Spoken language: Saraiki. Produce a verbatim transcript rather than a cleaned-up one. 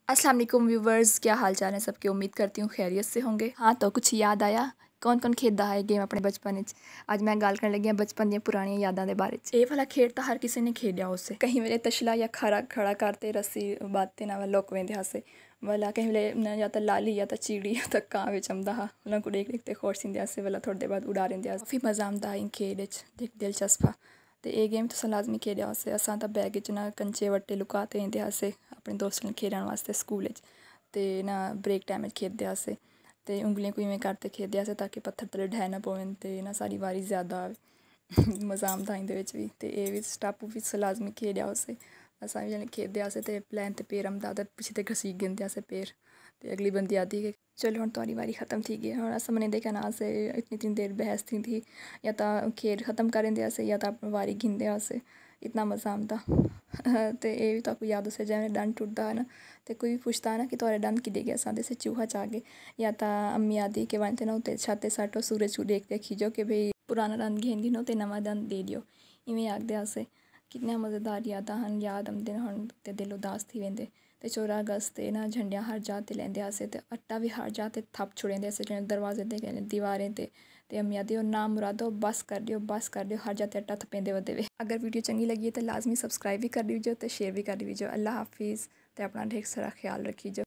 السلام علیکم ویورز، کیا حال چال ہیں سب کے؟ امید کرتی ہوں خیریت سے ہوں گے۔ ہاں، تو کچھ یاد آیا؟ کون کون کھیڈدا ہے گیم اپنے بچپن وچ؟ اج میں گالھ کرن لگی ہاں بچپن دیاں پرانیاں یاداں دے بارے وچ۔ اے والا کھیڈ تاں ہر کسے نے کھیڈیا ہوسے۔ کہیں ویلے تشلا یا کھارا کھڑا کر تے رسی بندھ تے نال لک ویندے ہاسے۔ ولا کہیں ویلے نہ یا تاں لالی یا تاں چیڑی یا تاں کاں وچ امدا ہا، انہاں کوں ڈیکھ ڈیکھ تے خوش تھیندے ہاسے، ولا تھوڑی دیر بعد اڑا ڈیندے ہاسے۔ کافی مزہ امدا ہا ان کھیڈ وچ، ڈیکھ دلچسپ ہا۔ تے اے گیم تساں لازمی کھیڈیا ہوسے۔ اساں تاں بیگ اچ نہ کنچے وٹے لکا تے ویندے ہاسے اپنے دوستاں نال کھیڈݨ واسطے سکول اچ، تے نہ بریک ٹائم اچ کھیڈدے ہاسے۔ تے انگلیاں کوں ایویں کر تے کھیڈدے ہاسے تاکہ پتھر تلے ڈھہہ نہ پوون تے نہ ساݙی واری زیادہ آوے۔ مزہ آندا ایندے وچ وی۔ تے اے وی سٹاپو وی تساں لازمی کھیڈیا ہوسے۔ اساں وی جݙاں کھیڈدے ہاسے تے پلین تے پیر امدا تے پچھے تے گھسیٹ گھندے ہاسے پیر۔ تے اڳلی بندی آہدی کہ چلو ہݨ تہاݙی واری ختم تھی ڳئی ہے، ہݨ اساں منیندے کائنا ہاسے، اتنی اتنی دیر بحث تھیندی ہئی، یا تاں کھیڈ ختم کر ݙیندے ہاسے یا تاں اپݨی واری گھندے ہاسے، اتنا مزہ آندا۔ تے اے وی تہاکوں یاد ہوسے جیویں ݙنڈ ٹردا ہا نا، تے کوئی وی پچھدا ہا نا کہ تہاݙا ݙنڈ کݙے ڳیا، اساں آہدے ہاسے چوہا چا ڳئے، یا تاں امی آہدی کہ ونڄ تے نا اتے چھت تے سٹ تے سورج کوں ݙیکھ تے آکھیجو کہ بھئی پراݨا ݙنڈ گھن گھنو تے نواں ݙنڈ ݙے ݙیو، ایویں آہدے ہاسے۔ کتنیاں مزیدار یاداں ہن، یاد امدن ہن تے دل اداس تھی ویندے۔ تے چودہ اگست تے نا جھنڈیاں ہر جاہ تے لیندے ہاسے تے اٹا وی ہر جاہ تے تھپ چھوڑیندے ہاسے، جیویں دروازے تے، دیواریں تے۔ تے امی آہدی، او نامرادو، بس کر ݙیو، بس کر ݙیو، ہر جاہ تے اٹا تھپیندے ودے وے۔ اگر ویڈیو چنڳی لڳی ہے تے لازمی سبسکرائب وی کر ݙیوجو تے شیئر وی کر ݙیوجو۔ اللہ حافظ تے اپݨا ڈھیر سارا خیال رکھیجو۔